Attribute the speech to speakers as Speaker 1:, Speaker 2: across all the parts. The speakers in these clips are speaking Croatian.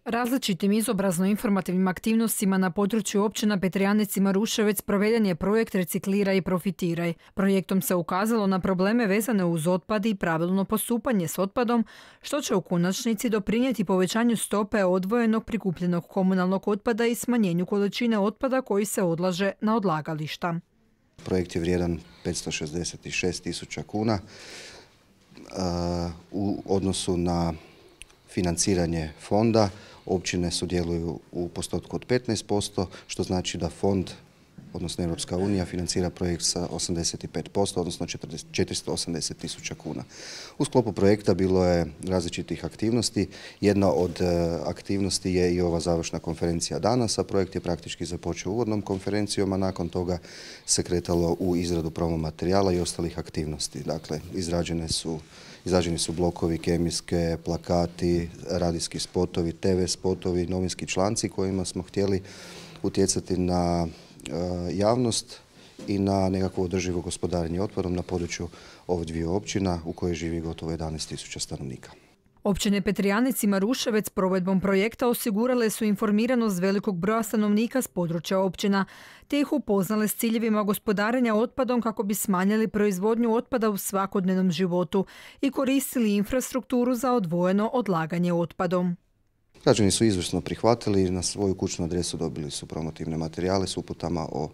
Speaker 1: Različitim izobrazno-informativnim aktivnostima na području općina Petrijanec i Maruševec proveden je projekt Recikliraj i profitiraj. Projektom se ukazalo na probleme vezane uz otpad i pravilno postupanje s otpadom, što će u konačnici doprinijeti povećanju stope odvojenog prikupljenog komunalnog otpada i smanjenju količine otpada koji se odlaže na odlagališta.
Speaker 2: Projekt je vrijedan 566.000 kuna. U odnosu na financiranje fonda općine sudjeluju u postotku od 15%, što znači da fond, odnosno Europska unija, financira projekt sa 85%, odnosno 480.000 kuna. U sklopu projekta bilo je različitih aktivnosti. Jedna od aktivnosti je i ova završna konferencija danas, a projekt je praktički započeo uvodnom konferencijom, a nakon toga se kretalo u izradu promo materijala i ostalih aktivnosti. Dakle, izrađeni su blokovi, kemijske, plakati, radijski spotovi, TV spotovi, novinski članci kojima smo htjeli utjecati na javnost i na nekakvo održivo gospodarenje otpadom na području ove dvije općina u kojoj živi gotovo 11.000 stanovnika.
Speaker 1: Općine Petrijanec i Maruševec provedbom projekta osigurale su informiranost velikog broja stanovnika s područja općina, te ih upoznale s ciljevima gospodarenja otpadom kako bi smanjili proizvodnju otpada u svakodnevnom životu i koristili infrastrukturu za odvojeno odlaganje otpadom.
Speaker 2: Građani su izvrsno prihvatili i na svoju kućnu adresu dobili su promotivne materijale s uputama o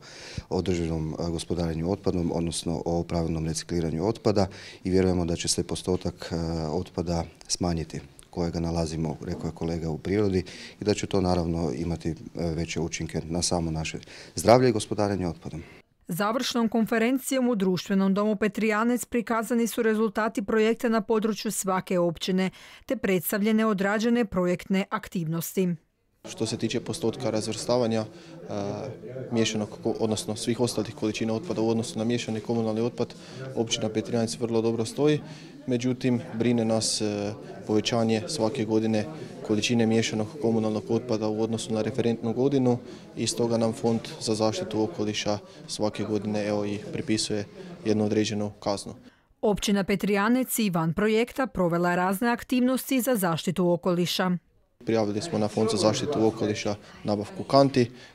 Speaker 2: održivom gospodarenju otpadom, odnosno o pravilnom recikliranju otpada i vjerujemo da će se postotak otpada smanjiti kojega nalazimo, rekao je kolega, u prirodi i da će to naravno imati veće učinke na samo naše zdravlje i gospodarenje otpadom.
Speaker 1: Završnom konferencijom u Društvenom domu Petrijanec prikazani su rezultati projekta na području svake općine, te predstavljene odrađene projektne aktivnosti.
Speaker 3: Što se tiče postotka razvrstavanja miješanog, odnosno svih ostalih količina otpada u odnosu na miješani komunalni otpad, općina Petrijanec vrlo dobro stoji. Međutim, brine nas povećanje svake godine količine miješanog komunalnog otpada u odnosu na referentnu godinu i stoga nam Fond za zaštitu okoliša svake godine i pripisuje jednu određenu kaznu.
Speaker 1: Općina Petrijanec i van projekta provela je razne aktivnosti za zaštitu okoliša.
Speaker 3: Prijavili smo na Fond za zaštitu okoliša nabavku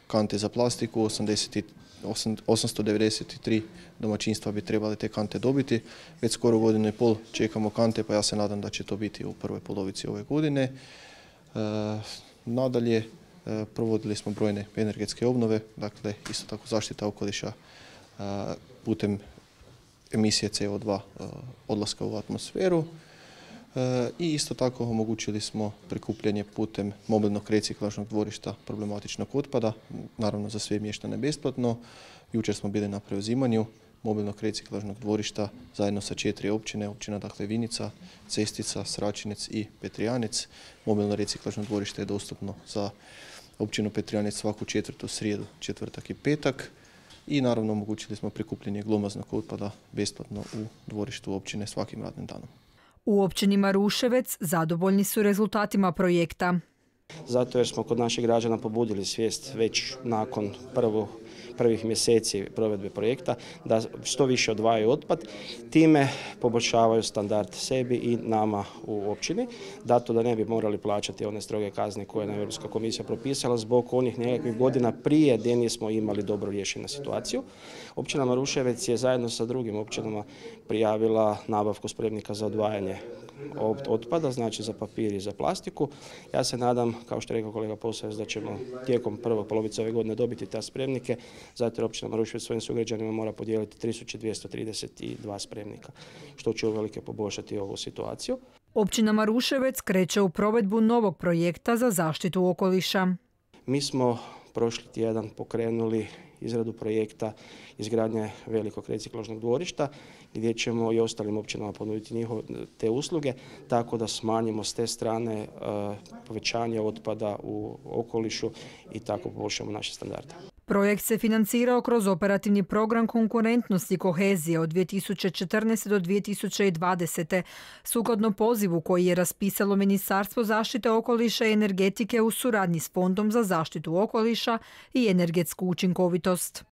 Speaker 3: kante za plastiku, 893 domaćinstva bi trebali te kante dobiti. Već skoro godinu i pol čekamo kante, pa ja se nadam da će to biti u prvoj polovici ove godine. Nadalje, provodili smo brojne energetske obnove, dakle isto tako zaštita okoliša putem emisije CO2 odlaska u atmosferu. I isto tako omogućili smo prikupljanje putem mobilnog reciklažnog dvorišta problematičnog otpada, naravno za sve mještane besplatno. Jučer smo bili na preuzimanju mobilnog reciklažnog dvorišta zajedno sa 4 općine, općina dakle Vinica, Cestica, Sračinec i Petrijanec. Mobilno reciklažno dvorište je dostupno za općinu Petrijanec svaku četvrtu srijedu, četvrtak i petak. I naravno omogućili smo prikupljanje glomaznog otpada besplatno u dvorištu općine svakim radnim danom.
Speaker 1: U općini Maruševec zadovoljni su rezultatima projekta.
Speaker 4: Zato jer smo kod naših građana pobudili svijest već nakon prvih mjeseci provedbe projekta da što više odvajaju otpad, time poboljšavaju standard sebi i nama u općini, zato da ne bi morali plaćati one stroge kazne koje je Europska komisija propisala zbog onih nekakvih godina prije gdje nismo imali dobro riješenu situaciju. Općina Maruševec je zajedno sa drugim općinama prijavila nabavku spremnika za odvajanje otpada, znači za papir i za plastiku. Ja se nadam, kao što je rekao kolega Posavec, da ćemo tijekom prve polovice ove godine dobiti te spremnike, zato jer općina Maruševec svojim sugrađanima mora podijeliti 3232 spremnika, što će uvelike poboljšati ovu situaciju.
Speaker 1: Općina Maruševec kreće u provedbu novog projekta za zaštitu okoliša.
Speaker 4: Mi smo prošli tjedan pokrenuli izradu projekta izgradnje velikog reciklažnog dvorišta gdje ćemo i ostalim općinama ponuditi te usluge tako da smanjimo s te strane povećanje otpada u okolišu i tako poboljšamo naše standarde.
Speaker 1: Projekt se financirao kroz operativni program konkurentnosti i kohezije od 2014. do 2020. sukladno pozivu koji je raspisalo Ministarstvo zaštite okoliša i energetike u suradnji s Fondom za zaštitu okoliša i energetsku učinkovitost.